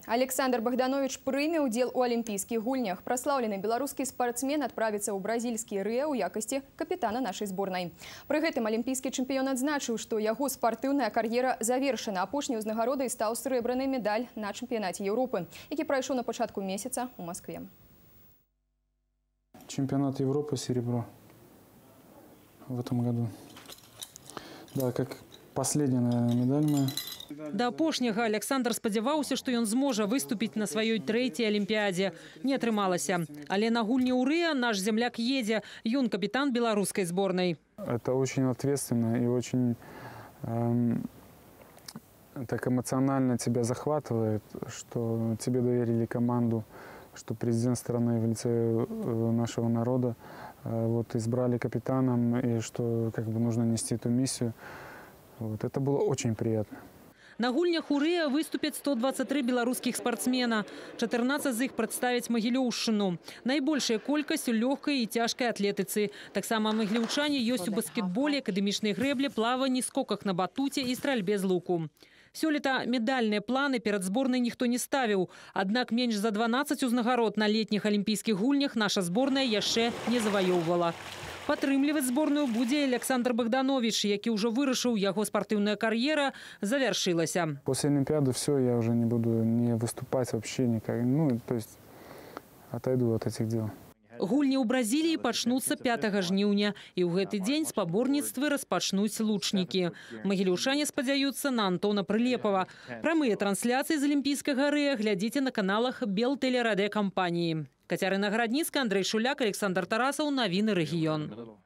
Александр Богданович прыме удел у олимпийских гульнях. Прославленный белорусский спортсмен отправится ў бразильскі Рыа ў якасці капитана нашей сборной. При гэтым олимпийский чемпион адзначыў, что его спортивная карьера завершена. Апошняй узнагародай стаў срэбраны медаль на чемпионате Европы, які прайшоў на пачатку месяца у Москве. Чемпионат Европы серебро в этом году. Да, как последняя, наверное, медаль моя. Да апошняга Александр спадзяваўся, што ён зможа выступіць на сваёй трэцяй алімпіядзе. Не атрымалася. Але на гульні ў Рыа наш земляк едзе. Ён капитан белорусской сборной. Это очень ответственно и очень так эмоционально тебя захватывает, что тебе доверили команду, что президент страны в лице нашего народа вот, избрали капитаном, и что как бы нужно нести эту миссию. Вот, это было очень приятно. На гульнях у Рыа выступят 123 белорусских спортсмена. 14 из них представят Могилёўшчыну. Наибольшая колькость у легкой и тяжкой атлетицы. Так само могилёўчане есть у баскетболе, академичной грэблі, плавании, скоках на батуте и стрельбе з луку. Сёлета медальные планы перед сборной никто не ставил. Однако меньше за 12 узнагарод на летних олимпийских гульнях наша сборная яшчэ не завоевывала. Падтрымліваць сборную будзе Александр Богданович, які уже вырашыў, яго спортивная карьера завершилася. После Олимпиады все, я уже не буду не выступать вообще никак. Ну, то есть отойду от этих дел. Гульні ў Бразіліі пачнуцца 5 жніўня, і ў гэты дзень спаборніцтвы распачнуць лучнікі. Магілёўчане спадзяюцца на Антона Прылепава. Прамыя трансляцыі з алімпійскага Рыа глядзіце на каналах Белтэлерадэ кампаніі. Кацярына Гарадніцкая, Андрей Шуляк, Александр Тарасаў. Навіны рэгіён.